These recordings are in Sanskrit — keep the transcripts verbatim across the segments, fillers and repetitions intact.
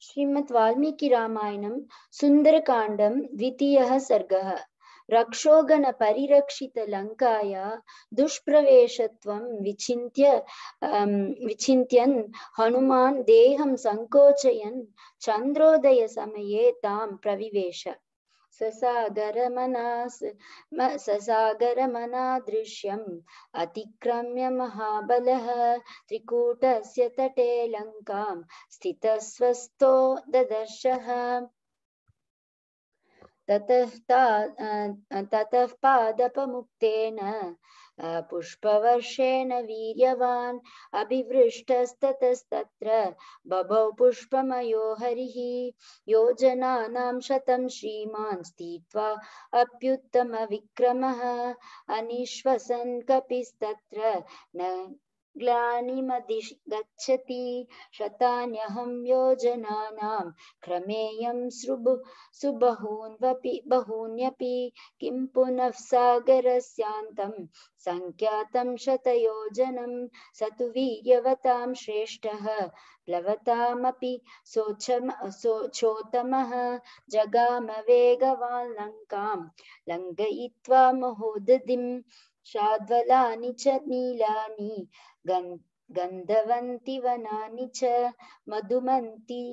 श्रीमद् वाल्मीकि रामायणं सुन्दरकाण्डं द्वितीयः सर्गः। रक्षोगण परिरक्षित लङ्काया दुष्प्रवेशत्वं विचिन्त्य विचिन्त्यन् हनुमान् देहं संकोचयन् चन्द्रोदय समये तां प्रविवेश। ससागरमनास ससागरमनादृश्यम् अतिक्रम्य महाबलः त्रिकूटस्य तटे लङ्कां स्थितस्वस्थो ददर्शः। ततः पादपमुक्तेन पुष्पवर्षेण वीर्यवान् अभिवृष्टस्ततस्तत्र बभौ पुष्पमयो हरिः। योजनानां शतं श्रीमान् स्थित्वा अप्युत्तमविक्रमः अनिश्वसन् कपिस्तत्र न ग्लानिमधिगच्छति। शतान्यहं योजनानां क्रमेयं सृभु सुबहून्वपि बहून्यपि किं पुनः सागरस्यान्तं संख्यातं शतयोजनं स तु वीर्यवतां श्रेष्ठः प्लवतामपि सोचोत्तमः जगाम वेगवान् लङ्कां लङ्घयित्वा महोदधिं शाद्वलानि च नीलानि गन्धवन्ति वनानि च मधुमन्ति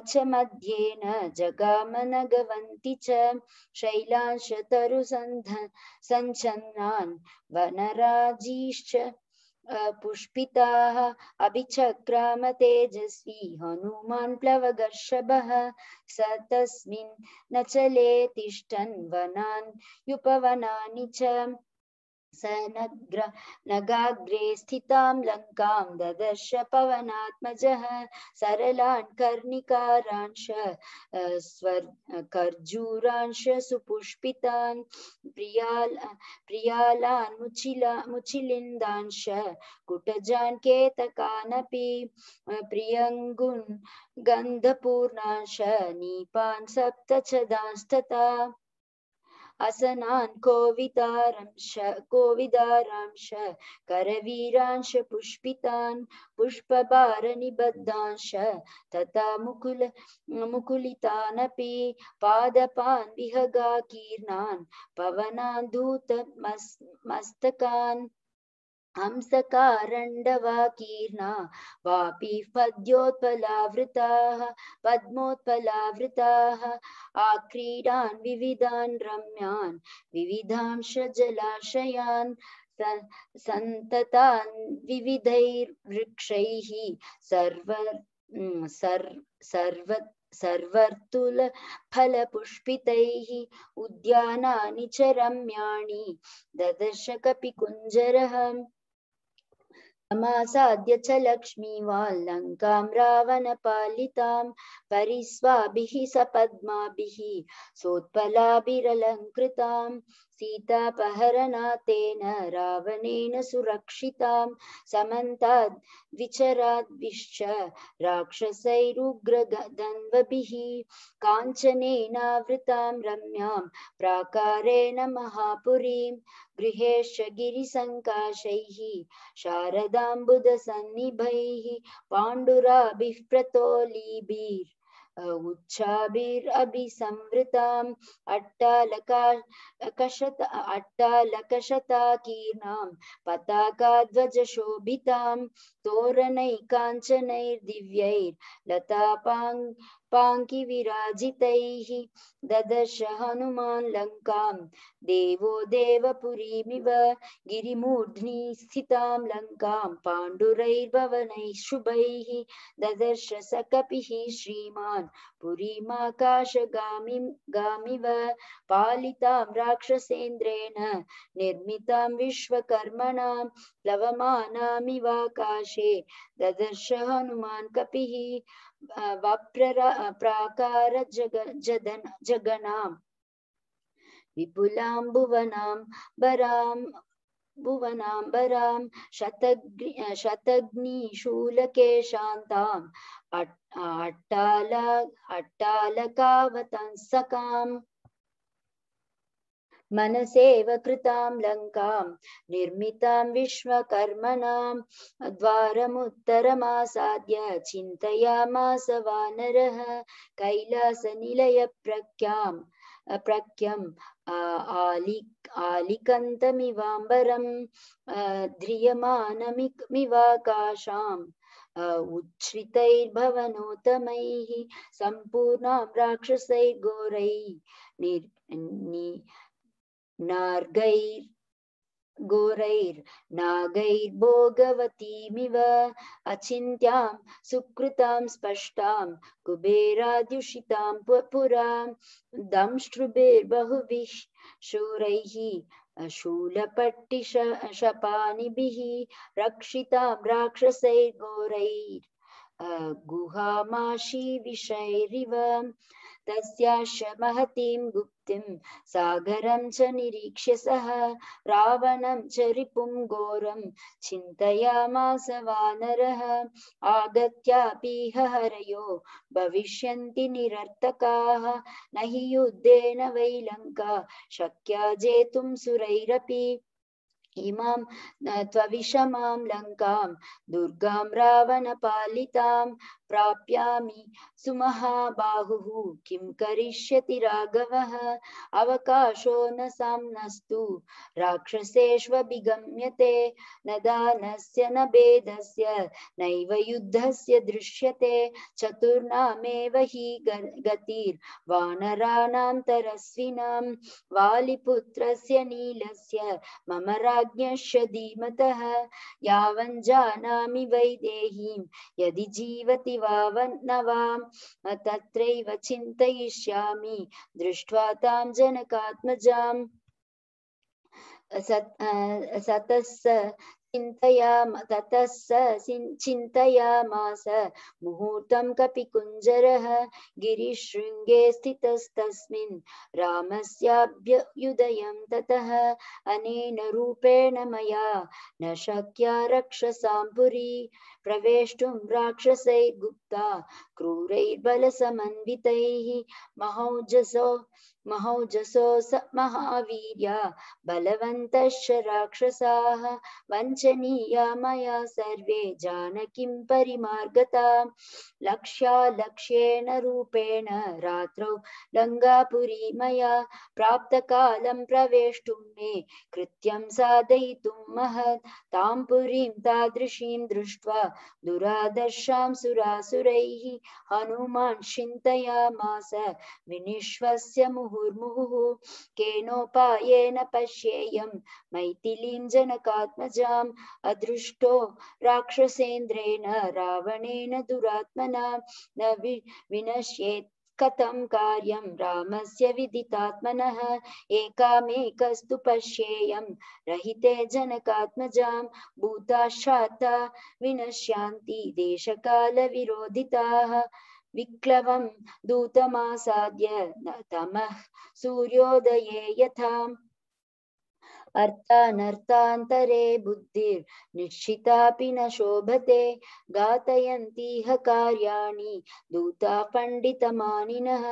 च मध्येन जगाम नगवन्ति च शैलांश तरुसन्छन्नान् वनराजीश्च पुष्पिताः अभिचक्राम तेजस्वी हनुमान् प्लवगर्षभः स तस्मिन् नचले तिष्ठन् वनान् युपवनानि च स नग्र नगाग्रे स्थितां लङ्कां ददर्श पवनात्मजः सरलान् कर्णिकारांश स्वर् खर्जूरांश सुपुष्पितान् प्रियाल प्रियालान् मुचिला मुचिलिन्दांश कुटजान् केतकानपि प्रियङ्गुन् गन्धपूर्णांश नीपान् सप्तचदांस्तथा असनान् कोविदारांश कोविदारांश करवीरांश पुष्पितान् पुष्पभारनिबद्धांश तथा मुकुल मुकुलितानपि पादपान् विहगाकीर्णान् पवनान् धूतमस्तकान् हंसकारण्डवाकीर्णा वापि पद्योत्पलावृताः पद्मोत्पलावृताः आक्रीडान् विविधान् रम्यान् विविधांश जलाशयान् सन्ततान् विविधैर्वृक्षैः सर्व सर्व सर्वर्तुल फलपुष्पितैः उद्यानानि च रम्याणि ददर्श कपिकुञ्जरः। समासाद्य च लक्ष्मीवान् लङ्कां रावणपालितां परिस्वाभिः सपद्माभिः सोत्पलाभिरलङ्कृतां सीतापहरणातेन रावणेन सुरक्षितां समन्ताद् विचराद्भिश्च राक्षसैरुग्रधन्वभिः काञ्चनेनावृतां रम्यां प्राकारेण महापुरीं गृहेश्च गिरिसङ्काशैः शारदाम्बुदसन्निभैः पाण्डुराभिः प्रतोलीभिः उच्चाभिरभिसंवृताम् अट्टालका कशत अट्टालकशताकीर्णां पताकाध्वजशोभितां तोरणैकाञ्चनैर्दिव्यैर्लतापाङ् पाङ्किविराजितैः ददर्श हनुमान् लङ्कां देवो देवपुरीमिव गिरिमूर्ध्नि स्थितां लङ्कां पाण्डुरैर्भवनैः शुभैः ददर्श स कपिः श्रीमान् पुरीमाकाशगामिं गामिव पालितां राक्षसेन्द्रेण निर्मितां विश्वकर्मणां प्लवमानामिवाकाशे ददर्श हनुमान् कपिः वप्राकार जग जदन जगनां विपुलां भुवनां बरां भुवनाम्बरां शतग्नि शतग्निशूलकेशान्ताम् अट्टाल अट्टालकावतंसकाम् मनसेव कृतां लङ्कां निर्मितां विश्वकर्मणां द्वारमुत्तरमासाद्य चिन्तयामास वानरः कैलासनिलयप्रख्याम् प्रख्यम् आलि आलिकन्तमिवाम्बरं ध्रियमानमिवाकाशाम् उच्छ्रितैर्भवनोत्तमैः सम्पूर्णां राक्षसैर्घोरैः नार्गैर् घोरैर्नागैर्भोगवतीमिव अचिन्त्यां सुकृतां स्पष्टां कुबेराद्युषितां पुरा दंष्ट्रुभिर्बहुभिः शूरैः शूलपट्टिशपानिभिः रक्षितां राक्षसैर्घोरैर् गुहामाशीविषैरिव तस्याश्च महतीं गुप्तिं सागरं च निरीक्ष्य सः रावणं च रिपुं घोरं चिन्तयामास वानरः आगत्यापीह हरयो भविष्यन्ति निरर्थकाः न हि युद्धेन वै लङ्का शक्या जेतुं सुरैरपि इमां त्वविषमां लङ्कां दुर्गां रावणपालितां प्राप्यामि सुमहाबाहुः किं करिष्यति राघवः अवकाशो न साम्नस्तु राक्षसेष्वभिगम्यते न दानस्य न भेदस्य नैव युद्धस्य दृश्यते चतुर्णामेव हि गतिर्वानराणां तरस्विनां वालिपुत्रस्य नीलस्य मम राज्ञश्च धीमतः यावञ्जानामि वैदेहीं यदि जीवति वा न वा तत्रैव चिन्तयिष्यामि दृष्ट्वा तां जनकात्मजाम् सतस्स चिन्तयाम ततः स चिन्तयामास मुहूर्तं कपिकुञ्जरः गिरिशृङ्गे स्थितस्तस्मिन् रामस्याभ्युदयं ततः अनेन रूपेण मया न शक्या रक्षसां पुरी प्रवेष्टुं राक्षसैः गुप्ता क्रूरैर्बलसमन्वितैः महौजसो महौजसो स महावीर्या बलवन्तश्च राक्षसाः वञ्चनीया मया सर्वे जानकीं परिमार्गता लक्ष्यालक्ष्येण रूपेण रात्रौ लङ्कापुरी मया प्राप्तकालं प्रवेष्टुं मे कृत्यं साधयितुं महत् तां पुरीं तादृशीं दृष्ट्वा दुरादर्शां सुरासुरैः हनुमान् चिन्तयामास विनिश्वस्य मुहुर्मुहुः केनोपायेन पश्येयं मैथिलीं जनकात्मजाम् अदृष्टो राक्षसेन्द्रेण रावणेन दुरात्मना न विनश्येत् कथं कार्यं रामस्य विदितात्मनः एकामेकस्तु पश्येयं रहिते जनकात्मजां भूताश्चात्ता विनश्यांति देशकालविरोधिताः विक्लवं दूतमासाद्य तमः सूर्योदये यथा अर्थानर्थान्तरे बुद्धिर्निश्चितापि न शोभते घातयन्तीह कार्याणि दूता पण्डितमानिनः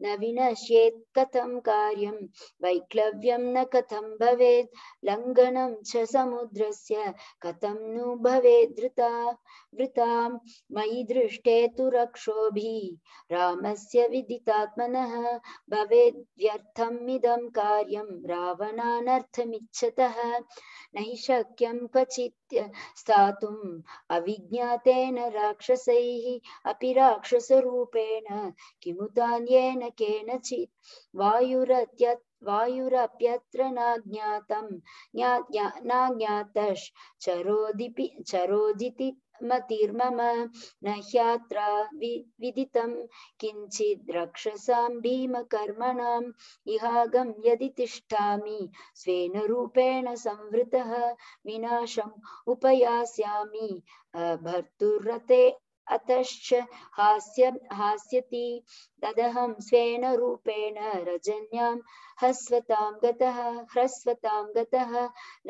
न विनश्येत् कथं कार्यं वैक्लव्यं न कथं भवेत् लङ्घनं च समुद्रस्य कथं नु भवेत् धृता वृतां मयि दृष्टे तु रक्षोभिः रामस्य विदितात्मनः भवेद् व्यर्थमिदं कार्यं रावणानर्थमिच्छतः न हि शक्यं क्वचित् स्थातुम् अविज्ञातेन राक्षसैः अपि राक्षसरूपेण किमुतान्येन केनचित् वायुरत्यत् वायुरप्यत्र नाज्ञातं नाज्ञातश्चरोदिपि चरोदिति मतिर्मम न ह्यात्र विदितं किञ्चित् रक्षसां भीमकर्मणाम् इहागं यदि तिष्ठामि स्वेन रूपेण संवृतः विनाशम् उपयास्यामि भर्तुरते अतश्च हास्य हास्यति तदहं स्वेन रूपेण रजन्यां हस्वतां गतः ह्रस्वतां गतः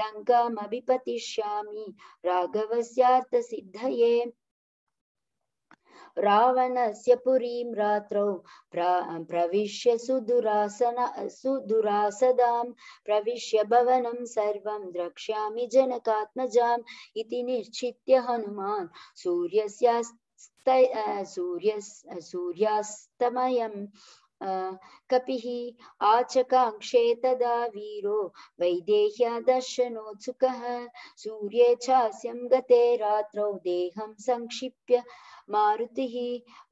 लङ्कामभिपतिष्यामि राघवस्यार्थसिद्धये रावणस्य पुरीं रात्रौ प्रविश्य सुदुरासन सुदुरासदां प्रविश्य भवनं सर्वं द्रक्ष्यामि जनकात्मजाम् इति निश्चित्य हनुमान् सूर्यस्यास्त सूर्यस् सूर्यास्तमयम् कपिः आचकाङ्क्षे तदा वीरो वैदेह्या दर्शनोत्सुकः सूर्ये चास्यं गते रात्रौ देहं संक्षिप्य मारुतिः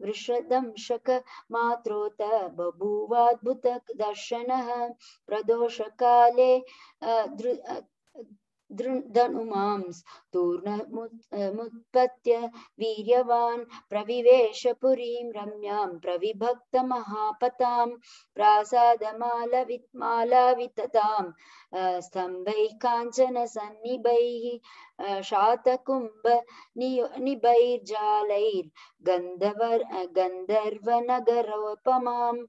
वृषदंशक मात्रोत बभूवाद्भुत दर्शनः प्रदोषकाले धनुमांस तूर्णमुत्पत्य वीर्यवान् प्रविवेश पुरीं रम्यां प्रविभक्त महापतां प्रासादमालवितमालाविततां स्तम्भैः काञ्चन सन्निभैः शातकुम्भ निभैर्जालैर्गन्धर्व गन्धर्वनगरोपमाम्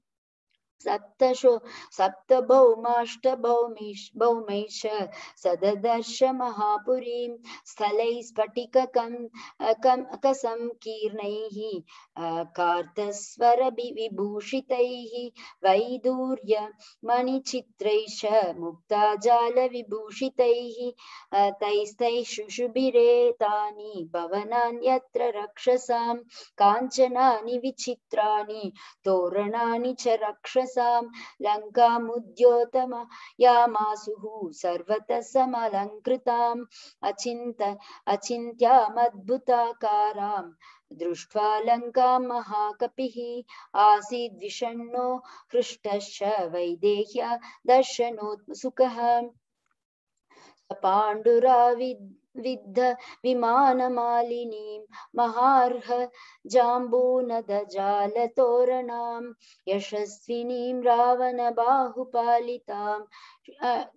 सप्तशो सप्तभौमाष्टभौमिश भौमैष सददर्श महापुरीं स्थलैः स्फटिककं कसंकीर्णैः कार्तस्वरविभूषितैः वैदूर्य मणिचित्रैश्च मुक्ताजालविभूषितैः तैस्तैः शुशुभिरे तानि भवनानि यत्र रक्षसां काञ्चनानि विचित्राणि तोरणानि च रक्षसां लङ्कामुद्योतमयामासुः सर्वतः समलङ्कृताम् अचिन्त अचिन्त्यामद्भुताकारां दृष्ट्वा लङ्कां महाकपिः आसीद् विषण्णो हृष्टश्च वैदेह्या दर्शनोत्सुकः पाण्डुराविद् विद्ध विमानमालिनीं महार्ह जाम्बूनदजालतोरणां यशस्विनीं रावणबाहुपालितां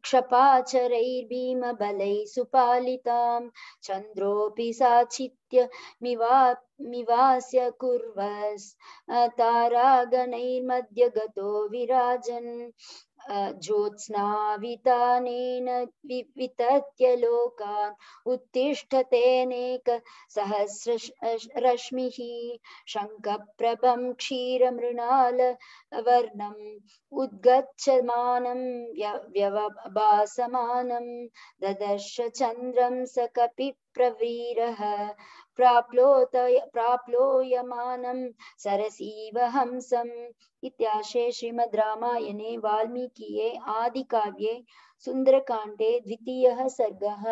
क्षपाचरैर्भीमबलैः सुपालितां चन्द्रोऽपि साचित्य मिवा मिवास्य कुर्वस् तारागणैर्मध्यगतो विराजन् ज्योत्स्नावितानेन वितत्य लोकान् उत्तिष्ठतेनेक सहस्र रश्मिः शङ्खप्रभं क्षीरमृणालवर्णम् उद्गच्छमानं व्यवभासमानं ददर्श चन्द्रं स कपिप्रवीरः प्राप्लोत प्राप्लोयमानं सरसीव हंसम् इत्याशे श्रीमद् रामायणे वाल्मीकिये आदिकाव्ये सुन्दरकाण्डे द्वितीयः सर्गः।